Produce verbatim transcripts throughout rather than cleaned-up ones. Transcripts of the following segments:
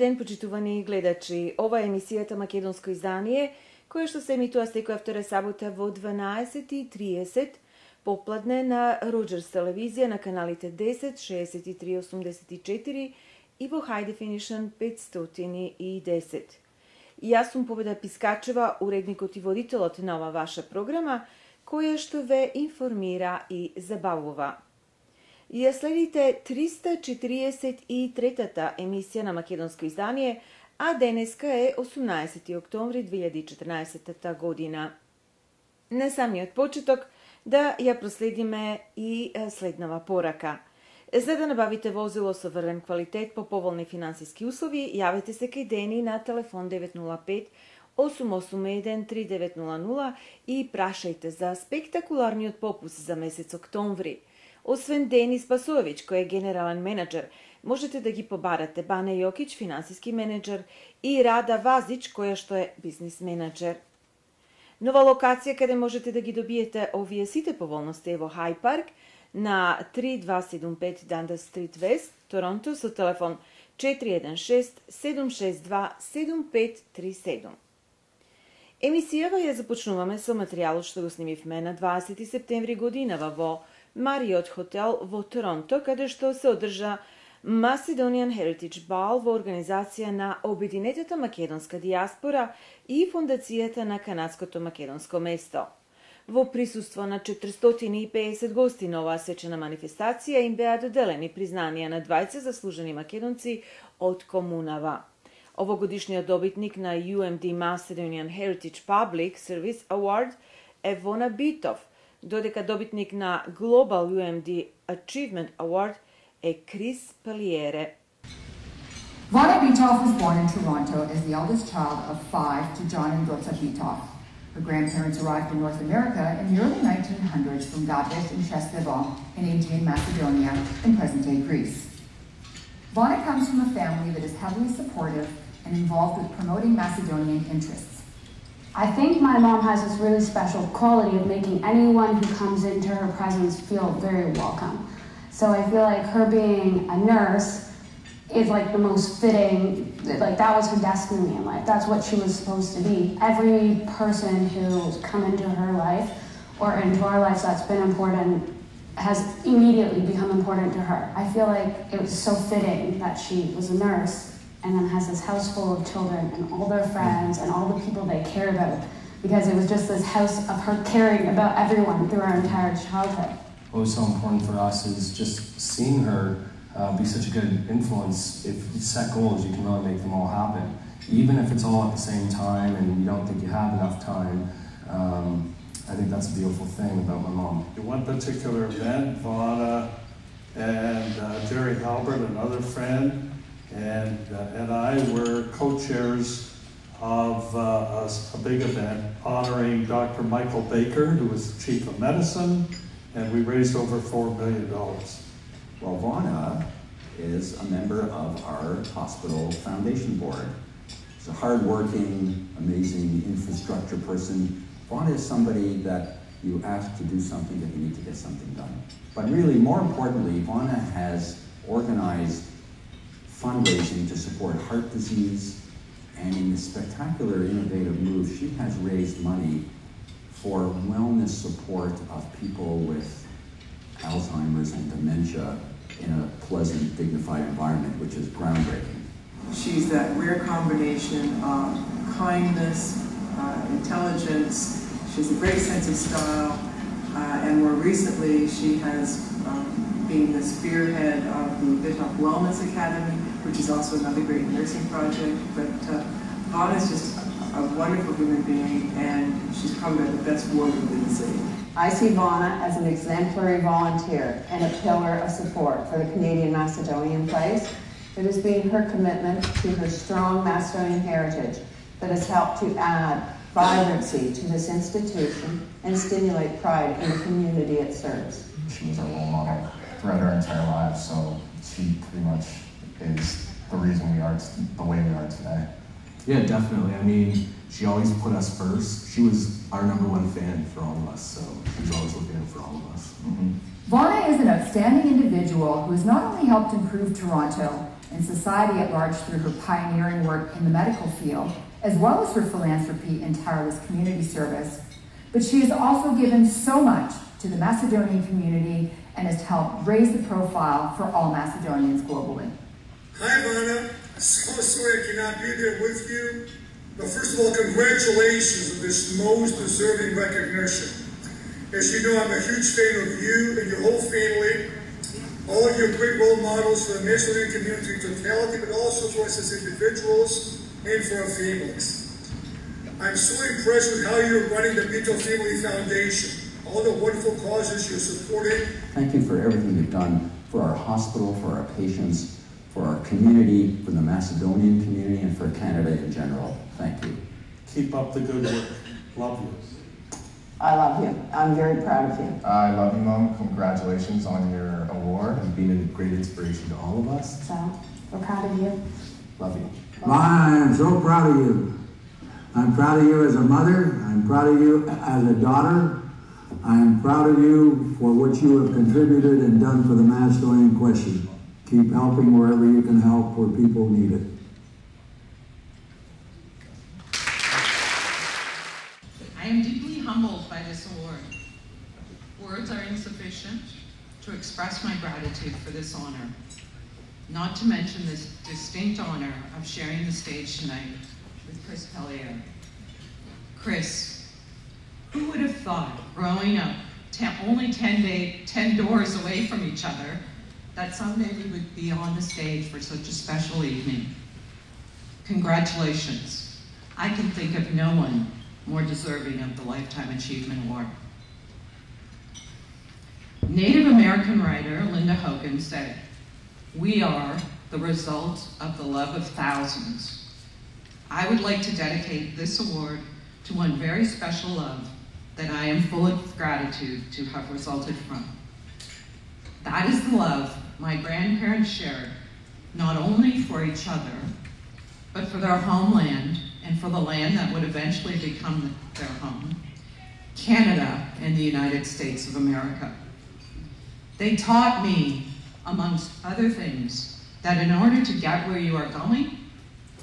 ден, почитувани гледачи. Ова е емисијата Македонско издание, која што се емитува секоја втора сабота во дванаесет и триесет попладне на Роџерс телевизија на каналите десет, шеесет и три, осумдесет и четири и во High Definition петстотин и десет. Јас сум Победа Пискачева, уредникот и водителот на ова ваша програма, која што ве информира и забавува. Ја следите триста четириесет и третата емисија на Македонско издание, а денеска е осумнаесети октомври две илјади и четрнаесета година. На самиот почеток да ја проследиме и следнава порака. За да набавите возило со врвен квалитет по поволни финансиски услови, јавете се кај Дени на телефон девет нула пет осум осум еден три девет нула нула и прашајте за спектакуларниот попуст за месец октомври. Освен Дени Спасович, кој е генерален менеджер, можете да ги побарате Бане Јокич, финансиски менеджер, и Рада Вазич, која што е бизнис менеджер. Нова локација каде можете да ги добиете овие сите поволности е во Хај Парк на три две седум пет Дандас Стрит Вест, Торонто, со телефон четири еден шест седум шест два седум пет три седум. Емисијава ја започнуваме со материјалот што го снимивме на дваесети септември годинава во Мариот хотел во Торонто, каде што се одржа Macedonian Heritage Ball во организација на Обединетата македонска дијаспора и фондацијата на канадското македонско место. Во присуство на четиристотини и педесет гости на оваа свечена манифестација им беа доделени признанија на двајца заслужени македонци од комунава. Овогодишниот добитник на ю ем ди Macedonian Heritage Public Service Award е Вона Битов, додека добитник на Global ю ем ди Achievement Award е Крис Палиере. Vona Bitov was born in Toronto as the eldest child of five to John and Dotsa Bitov. Her grandparents arrived in North America in the early nineteen hundreds from Gadesh and Shestevo in Aegean Macedonia in present-day Greece. Vona comes from a family that is heavily supportive and involved with promoting Macedonian interests. I think my mom has this really special quality of making anyone who comes into her presence feel very welcome. So I feel like her being a nurse is like the most fitting, like that was her destiny in life. That's what she was supposed to be. Every person who's come into her life or into our lives that's been important has immediately become important to her. I feel like it was so fitting that she was a nurse and then has this house full of children and all their friends and all the people they care about, because it was just this house of her caring about everyone through our entire childhood. What was so important for us is just seeing her uh, be such a good influence. If you set goals, you can really make them all happen. Even if it's all at the same time and you don't think you have enough time, um, I think that's a beautiful thing about my mom. In one particular event, Vona and uh, Jerry Halbert, another friend, and, uh, and I were co-chairs of uh, a, a big event honoring Doctor Michael Baker, who was the chief of medicine, and we raised over four million dollars. Well, Vona is a member of our hospital foundation board. She's a hardworking, amazing infrastructure person. Vona is somebody that you ask to do something that you need to get something done. But really, more importantly, Vona has organized fundraising to support heart disease, and in a spectacular, innovative move, she has raised money for wellness support of people with Alzheimer's and dementia in a pleasant, dignified environment, which is groundbreaking. She's that rare combination of kindness, uh, intelligence. She has a great sense of style, uh, and more recently, she has um, been the spearhead of the Bitov Wellness Academy, which is also another great nursing project. But uh, Vona is just a wonderful human being, and she's probably the best warrior in the city. I see Vona as an exemplary volunteer and a pillar of support for the Canadian Macedonian place. It has been her commitment to her strong Macedonian heritage that has helped to add vibrancy to this institution and stimulate pride in the community it serves. She was our role model throughout our entire lives, so she pretty much is the reason we are the way we are today. Yeah, definitely. I mean, she always put us first. She was our number one fan for all of us, so she was always looking out for all of us. Mm-hmm. Vonna is an outstanding individual who has not only helped improve Toronto and society at large through her pioneering work in the medical field, as well as her philanthropy and tireless community service, but she has also given so much to the Macedonian community and has helped raise the profile for all Macedonians globally. Hi, Vonna. So sorry I cannot be there with you, but first of all, congratulations on this most deserving recognition. As you know, I'm a huge fan of you and your whole family, all of your great role models for the Macedonian community in totality, but also for us as individuals and for our families. I'm so impressed with how you're running the Pinto Family Foundation, all the wonderful causes you're supporting. Thank you for everything you've done for our hospital, for our patients, for our community, for the Macedonian community, and for Canada in general. Thank you. Keep up the good work. Love you. I love you. I'm very proud of you. I love you, Mom. Congratulations on your award and being a great inspiration to all of us. So, we're proud of you. Love you. I am so proud of you. I'm proud of you as a mother. I'm proud of you as a daughter. I am proud of you for what you have contributed and done for the Macedonian question. Keep helping wherever you can help where people need it. I am deeply humbled by this award. Words are insufficient to express my gratitude for this honor, not to mention this distinct honor of sharing the stage tonight with Chris Pellier. Chris, who would have thought, growing up ten, only ten, day, ten doors away from each other, that someday we would be on the stage for such a special evening? Congratulations. I can think of no one more deserving of the Lifetime Achievement Award. Native American writer Linda Hogan said, "We are the result of the love of thousands." I would like to dedicate this award to one very special love that I am full of gratitude to have resulted from. That is the love my grandparents shared, not only for each other, but for their homeland and for the land that would eventually become their home, Canada and the United States of America. They taught me, amongst other things, that in order to get where you are going,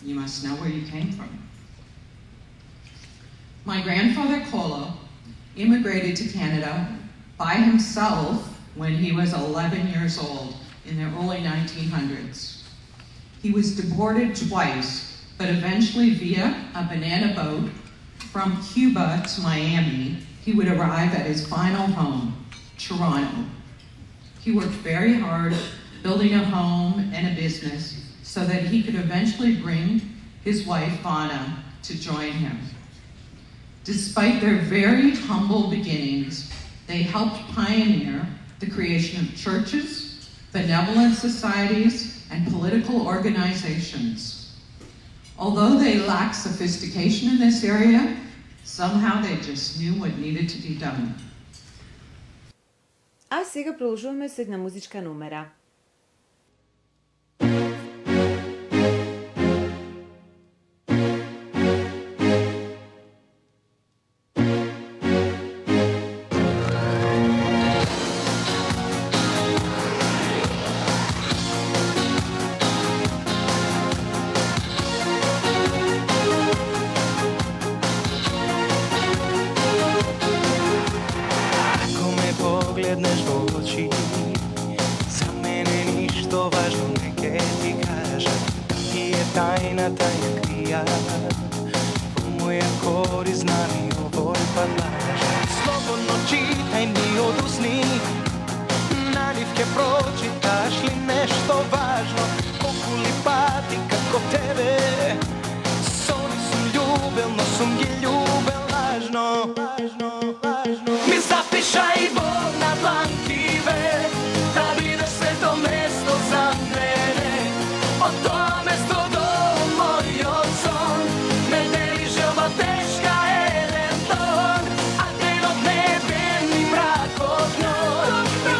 you must know where you came from. My grandfather Kolo immigrated to Canada by himself when he was eleven years old in the early nineteen hundreds. He was deported twice, but eventually via a banana boat from Cuba to Miami, he would arrive at his final home, Toronto. He worked very hard building a home and a business so that he could eventually bring his wife, Vonna, to join him. Despite their very humble beginnings, they helped pioneer the creation of churches, benevolent societies, and political organizations. Although they lacked sophistication in this area, somehow they just knew what needed to be done. А сега продолжуваме со една музичка номера.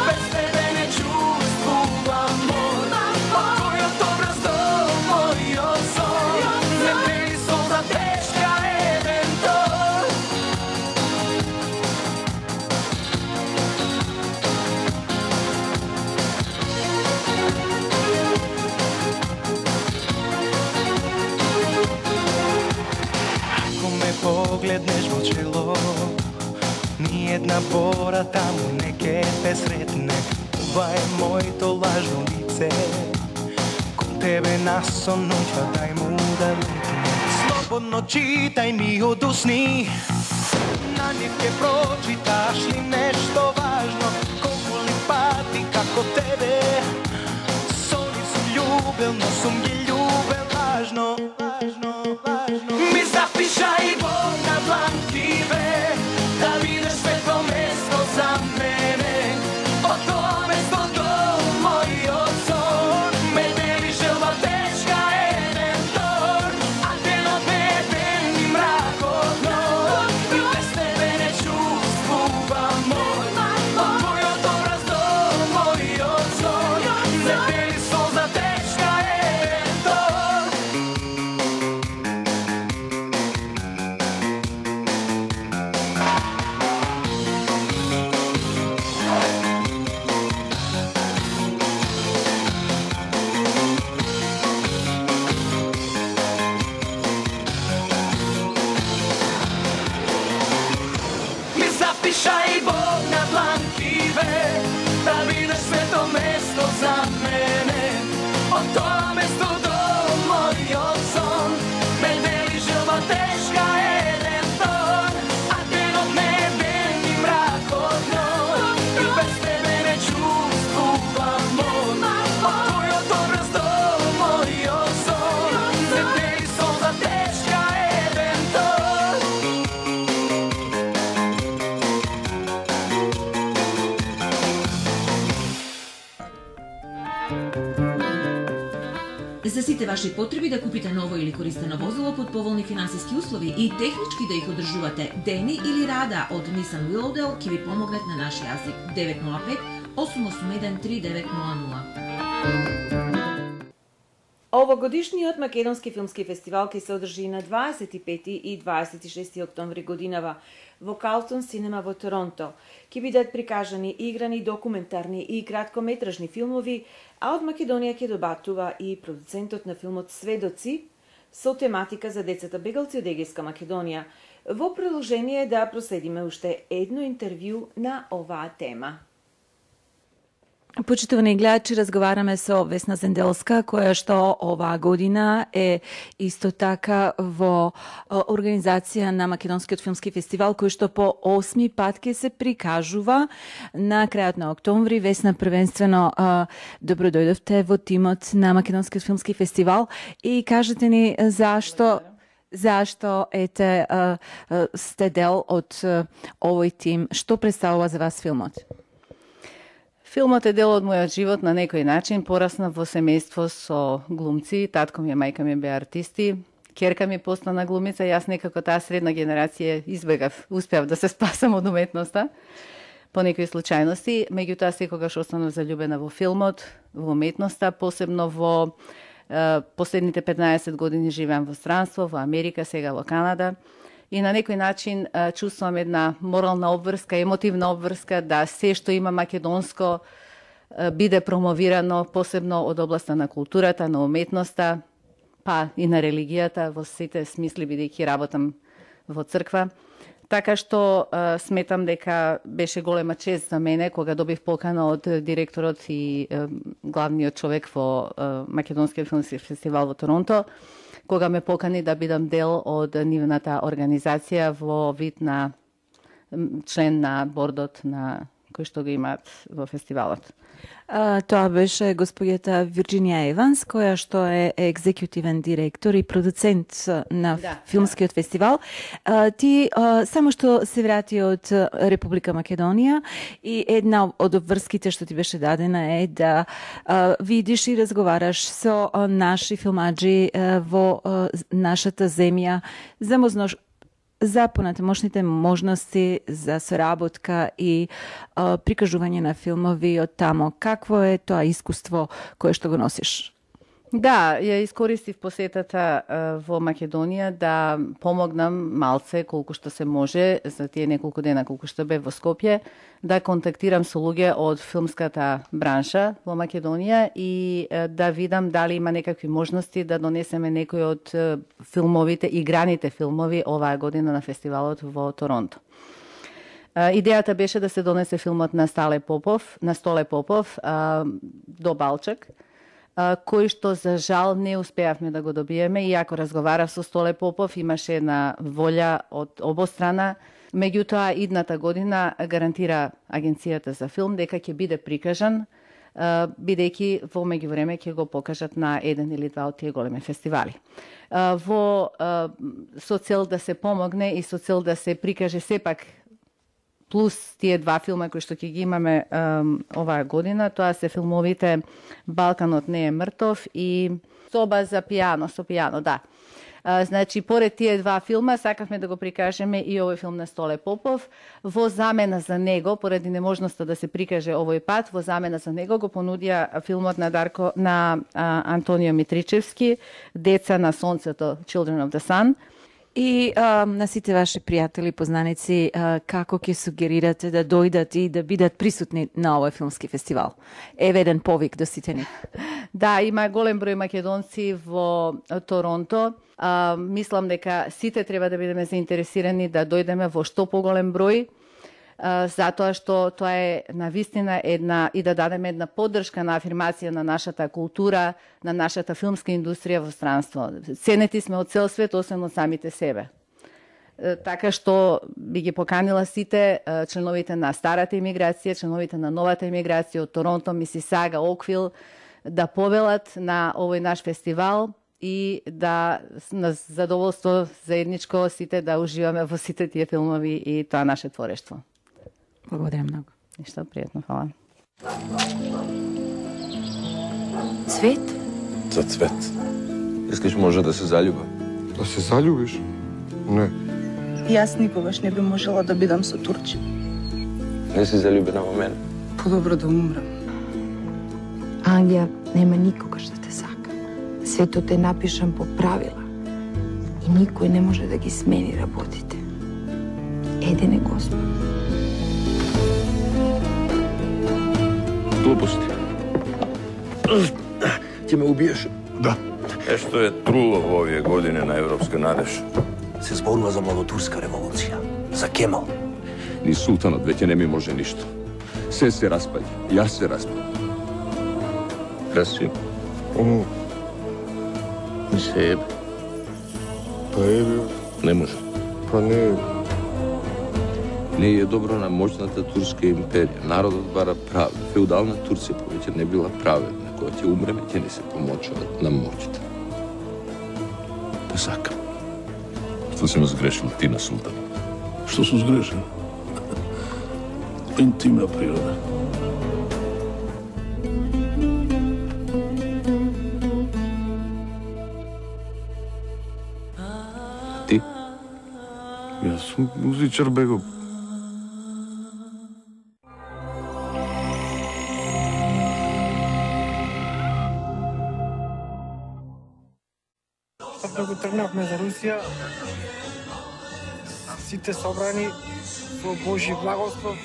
Без тебе не чувствувам погледнеш во чело, ни една бора таму не ке те сретне. Ова е моето лажно лице, кон тебе насонува, дај му да летне. Слободно читај ми од усни, на нив ке прочиташ ли нешто важно. Колку ли пати како тебе, со нив сум љубел, но сум ги љубел лажно. Ми запишај во на дланкиве, да видиш светло место за мене. Од тоа место до мојот сон, ме дели желба тешка еден тор, а денот ме е ден и мракот ног, и без тебе не чувствувам мој. Од твојот образ до мојот сон, ме дели солза тешка еден тор. Ми запишај Бог на дланкиве, да видиш свето место за мене. Од тоа место до мојот сон, ме дели желба тешка еден тор, а денот ме е ден и мракот ног, и без тебе не чувствувам мој. Од твојот образ до мојот сон, ме дели солза тешка еден тор. За сите ваши потреби да купите ново или користено возило под поволни финансиски услови и технички да их одржувате, Дени или Рада од Nissan Willowdale ќе ви помогнат на наш јазик девет нула пет осум осум еден три девет нула нула. Овогодишниот Македонски филмски фестивал ќе се одржи на дваесет и пети и дваесет и шести октомври годинава во Carlton Cinema во Торонто. Ќе бидат прикажани играни, документарни и краткометражни филмови, а од Македонија ќе добатува и продуцентот на филмот Сведоци со тематика за децата бегалци од Егејска Македонија. Во продолжение да проследиме уште едно интервју на оваа тема. Почитувани гледачи, разговараме со Весна Зенделска, која што оваа година е исто така во организација на Македонскиот филмски фестивал, кој што по осми пат ќе се прикажува на крајот на октомври. Весна, првенствено добро дојдовте во тимот на Македонскиот филмски фестивал и кажете ни зашто Зашто ете сте дел од овој тим, што представува за вас филмот? Филмот е дел од мојот живот на некој начин. Пораснав во семејство со глумци, татко ми и мајка ми беа артисти, ќерка ми постана глумица, јас некако таа средна генерација избегав, успеав да се спасам од уметноста по некои случајности, меѓутоа секогаш останав заљубена во филмот, во уметноста, посебно во е, последните петнаесет години живеам во странство, во Америка, сега во Канада. И на некој начин а, чувствувам една морална обврска, емотивна обврска да се што има македонско а, биде промовирано, посебно од областа на културата, на уметноста, па и на религијата, во сите смисли, бидејќи работам во црква. Така што а, сметам дека беше голема чест за мене кога добив покана од директорот и а, главниот човек во а, Македонскиот филмски фестивал во Торонто, кога ме покани да бидам дел од нивната организација во вид на член на бордот на кој што го имаат во фестивалот. А, тоа беше господјата Вирџинија Еванс, која што е екзекутивен директор и продуцент на да, филмскиот да. фестивал. А, ти а, само што се врати од Република Македонија и една од обврските што ти беше дадена е да а, видиш и разговараш со а, наши филмаджи а, во а, нашата земја за можност за понатамошните можности за соработка и а, прикажување на филмови од тамо. Какво е тоа искуство кое што го носиш? Да, ја искористив посетата во Македонија да помогнам малце колку што се може за тие неколку дена колку што бев во Скопје, да контактирам со луѓе од филмската бранша во Македонија и да видам дали има некакви можности да донесеме некои од филмовите, играните филмови оваа година на фестивалот во Торонто. Идејата беше да се донесе филмот на Стале Попов, на Столе Попов, до Балчак, кој што за жал не успеавме да го добиеме, иако разговарав со Столе Попов, имаше една волја од обострана. Меѓутоа, идната година гарантира Агенцијата за филм дека ќе биде прикажан, бидејќи во меѓувреме ќе го покажат на еден или два од тие големи фестивали. Во со цел да се помогне и со цел да се прикаже сепак плюс тие два филма кои што ќе ги имаме um, оваа година, тоа се филмовите Балканот не е мртов и Соба за пијано, со пијано, да. Uh, значи, поред тие два филма, сакавме да го прикажеме и овој филм на Столе Попов. Во замена за него, поради неможноста да се прикаже овој пат, во замена за него го понудија филмот на Дарко на uh, Антонио Митричевски, Деца на сонцето, Children of the Sun. И а, на сите ваши пријатели, познаници, а, како ќе сугерирате да дојдат и да бидат присутни на овој филмски фестивал? Еве еден повик до сите ни. Да, има голем број македонци во Торонто. А, мислам дека сите треба да бидеме заинтересирани да дојдеме во што поголем број, затоа што тоа е навистина една и да дадеме една поддршка на афирмација на нашата култура, на нашата филмска индустрија во странство. Ценети сме од цел свет, освен од самите себе. Така што би ги поканила сите членовите на старата имиграција, членовите на новата имиграција од Торонто, Мисисага, Оквил да повелат на овој наш фестивал и да на задоволство заедничко сите да уживаме во сите тие филмови и тоа наше творештво. Благодарам многу. Ништо, пријатно, фала. Цвет? За цвет. Искаш може да се залюба? Да се залюбиш? Не. Јас никогаш не би можела да бидам со Турчи. Не си залюбена во мене? Подобро да умрам. Ангија нема никогаш да те сака. Светот е напишан по правила и никој не може да ги смени работите. Еден е Господ. Глупости. Ќе ме убиеш? Да. Е што е труло во овие години на европска надеж? Се зборува за младотурска револуција, за Кемал. Ни султанот веќе не ми може ништо. Се се распаѓа, јас се распаѓа. Красиво. О. Не се ебе. Па ебе. Не може. Па не ебе. Не е добро на моќната турска империја. Народот бара правда. Феудална Турција повеќе не била праведна. Кога ќе умреме, ќе не се помочуваат на моќта. Те сакам. Што си ме сгрешил ти на султан? Што сум сгрешил? Интимна природа. Ти? Јас сум музичар, бего. Како тргнавме за Русија, сите собрани со Божји благослов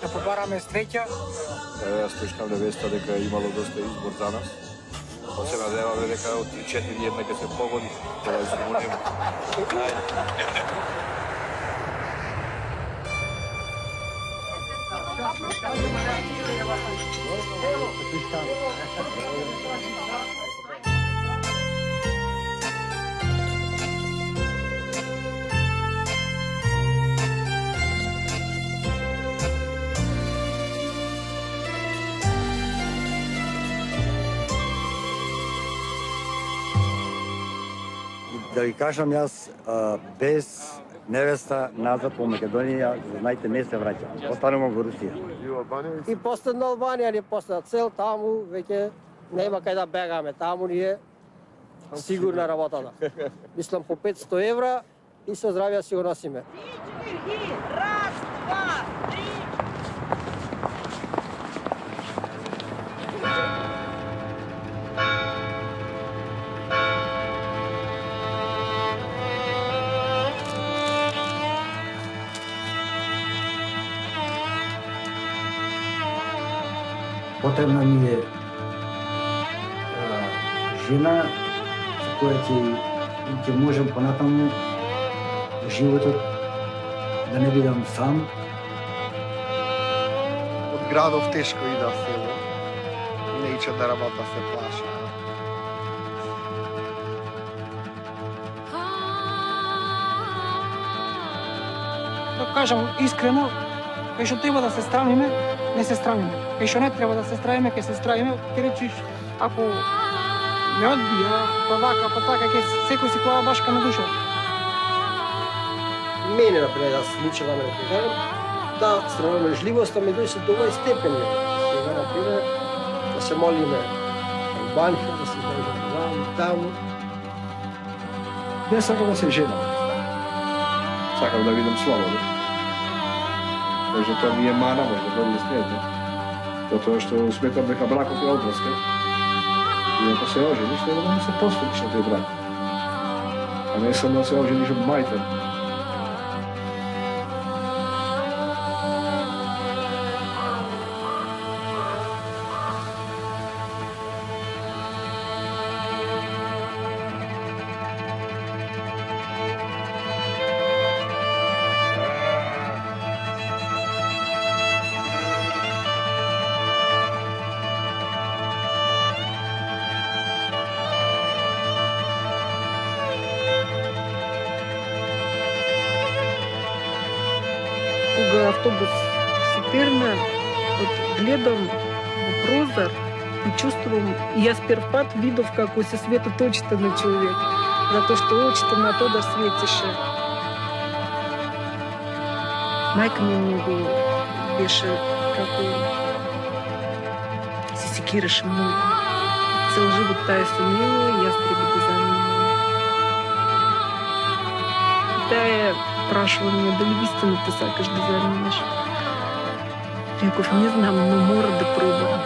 да побараме среќа. Јас слушнав веста дека имало доста избор за нас. Па се надеваме дека од три-четири една ќе се погоди, да изгоним. Да ви кажам јас, без невеста назад во Македонија, знајте, не се враќам. Останувам во Русија. И последна Албанија ни последна цел, таму веќе нема кај да бегаме, таму ни е сигурна работата. Мислам по петсто евра и со здравје си го носиме. Раз, два, три. потребна ми е жена со која ќе ќе можам понатаму во животот да не бидам сам. Од градов тешко и да село. Не ича да работа се плаша. Да кажам искрено, кај што треба да се страмиме, не се страмиме. Кај што не треба да се стравиме, ќе се стравиме, ќе речиш, ако ме одбија, па вака, па така, ќе секој си клава башка на душа. Мене, например, да се лича да ме кажам, да стравежливоста ми дојде до овој степен. Сега, например, да се молиме во банка, да се молиме ваму, таму. Не сакам да се женам. Сакам да видам слободно. Може тоа ми е мана, може да не смете. Затоа што сметам дека бракот е одраска. И ако се ожениш, треба да му се посветиш на тој брак. А не само да се ожениш од мајта. Кога автобус се терна, гледам во прозор и чувствувам, и јас прв пат видов како се светат очите на човек, затоа што очите на Тодор светеше. Мајка ми многу беше како се секираше многу. Цел живот таа со него и јас треба да занимам. Таа прашува ме дали вистина те сакаш да занимаш. Реков, не знам, но мора да пробам.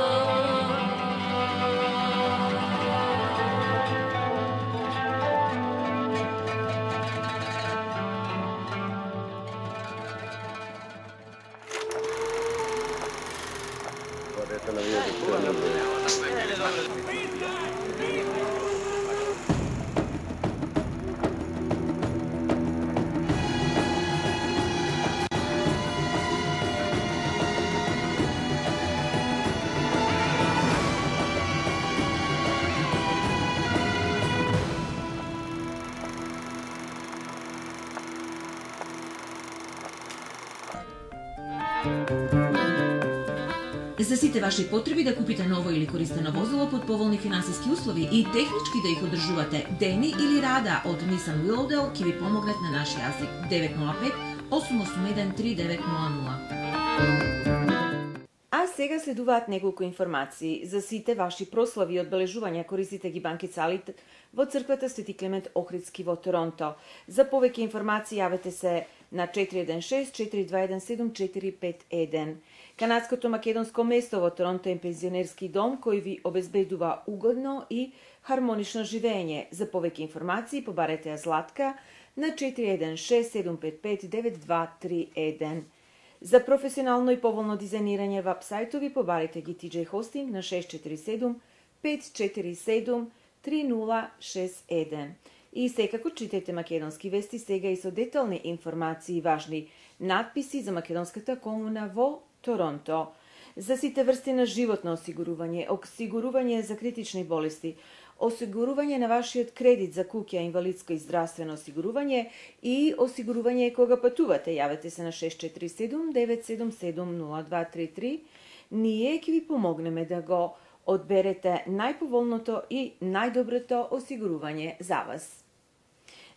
За сите ваши потреби да купите ново или користено возило под поволни финансиски услови и технички да их одржувате, Дени или Рада од Nissan Willowdale ќе ви помогнат на наш јазик девет нула пет осум осум еден три девет нула нула. А сега следуваат неколку информации. За сите ваши прослави и одбележувања користите ги банкицалите во црквата Свети Климент Охридски во Торонто. За повеќе информации јавете се на четири еден шест четири два еден седум четири пет еден. Канадското македонско место во Торонто е пензионерски дом кој ви обезбедува угодно и хармонично живење. За повеќе информации побарете ја Златка на четири еден шест седум пет пет девет два три еден. За професионално и поволно дизајнирање веб-сајтови побарете ги Ти Џеј Hosting на шест четири седум пет четири седум три нула шест еден. И секако читајте македонски вести сега и со детални информации и важни надписи за македонската комуна во Торонто. За сите врсти на животно осигурување, осигурување за критични болести, осигурување на вашиот кредит за куќа, инвалидско и здравствено осигурување и осигурување кога патувате, јавете се на шест четири седум девет седум седум нула два три три. Ние ќе ви помогнеме да го одберете најповолното и најдоброто осигурување за вас.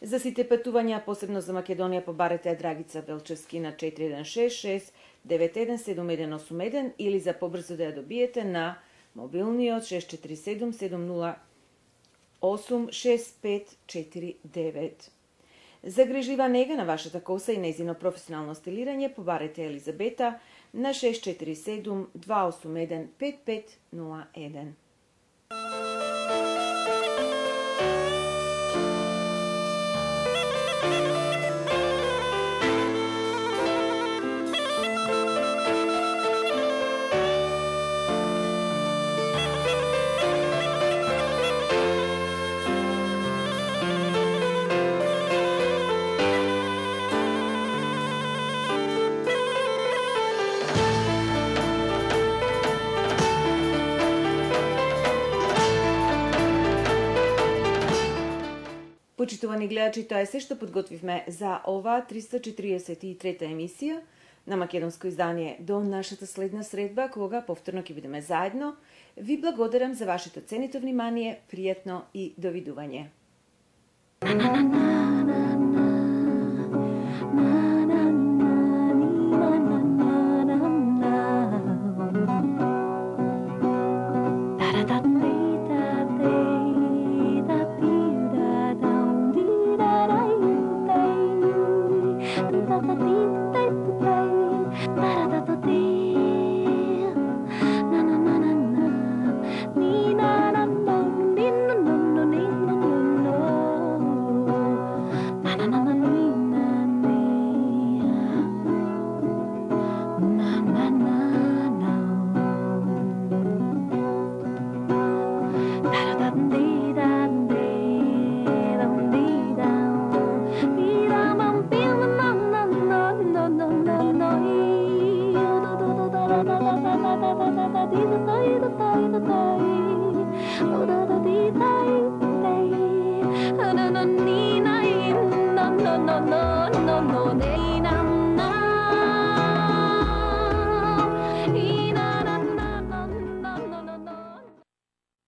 За сите патувања, посебно за Македонија, побарете Драгица Белчевски на четири еден шест шест девет еден седум еден осум еден или за побрзо да ја добиете на мобилниот шест четири седум седум нула осум шест пет четири девет. За грижлива нега на вашата коса и незино професионално стилирање побарете Елизабета на шест четири седум два осум еден пет пет нула еден. Почитувани гледачи, тоа е се што подготвивме за оваа триста четиридесет и трета емисија на македонско издание. До нашата следна средба, кога повторно ќе бидеме заедно, ви благодарам за вашето ценито внимание, пријатно и довидување. Da da da da da da da da da da da da da da da da da